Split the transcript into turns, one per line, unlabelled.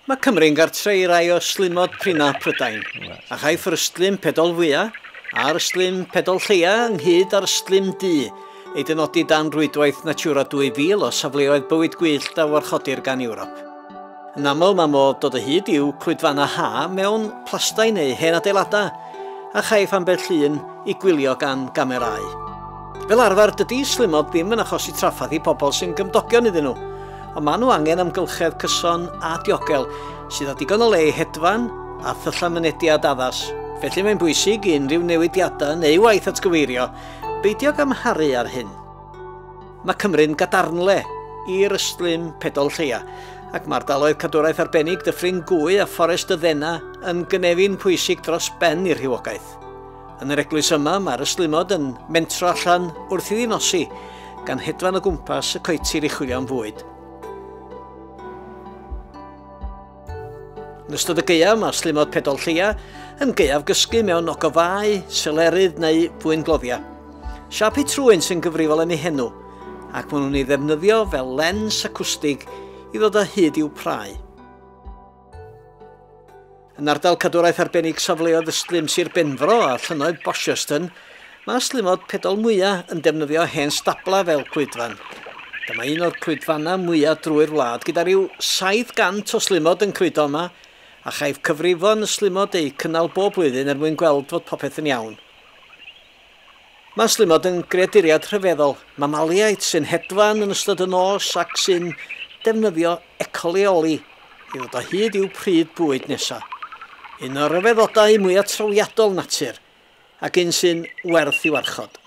Mae Cymru'n gartre i rai o ystlumod prina Prydain, a chaiff yr ystlum pedol fwya a'r ystlum pedol lleia ynghyd â'r ystlum du ei dynodi dan rwydwaith Natura 2000 o safleoedd bywyd gwyllt a warchodir gan Ewrop. Yn aml mae modd dod o hyd i'w clwydfannau ha mewn plastai neu hen adeiladau, a chaiff ambell un ei gwylio gan gamerâu. Fel arfer, dydy ystlumod ddim yn achosi trafferth i pobl sy'n gymdogion iddyn nhw, ond maen nhw angen amgylchedd cyson a diogel sydd â digon o le i hedfan a thyllau mynediad addas. Felly mae'n bwysig i unrhyw newidiadau neu waith atgyweirio beidio ag amharu ar hyn. Mae Cymru'n gadarnle i'r ystlum pedol lleia, ac mae ardaloedd cadwraeth arbennig Dyffryn Gwy a Fforest y Ddena yn gynefin pwysig dros ben i'r rhywogaeth. Yn yr eglwys yma, mae'r ystlumod yn mentro allan wrth iddi nosi, gan hedfan o gwmpas y coetir i chwilio am fwyd. Yn ystod y gaeaf, mae ystlumod pedol lleia yn gaeaf gysgu mewn ogofâu, selerydd neu fwyngloddiau. Siâp eu trwyn sy'n gyfrifol am eu henw, ac maen nhw'n ei ddefnyddio fel lens acwstig i ddod o hyd i'w prae. Yn ardal cadwraeth arbennig safleoedd ystlum Sir Benfro a llynnoedd Bosherston, mae ystlumod pedol mwyaf yn defnyddio hen stablau fel clwydfan. Dyma un o'r clwydfannau mwyaf drwy'r wlad, gyda rhyw 700 o slumod yn clwydo yma, a chaiff cyfrifon y slumod eu cynnal bob blwyddyn er mwyn gweld fod popeth yn iawn. Mae slumod yn greaduriaid rhyfeddol, mamaliaid sy'n hedfan yn ystod y nos ac sy'n defnyddio ecoleoli i ddod o hyd i'w pryd bwyd nesaf. Un o'r rhyfeddodau mwyaf trawiadol natur, ac un sy'n werth i warchod.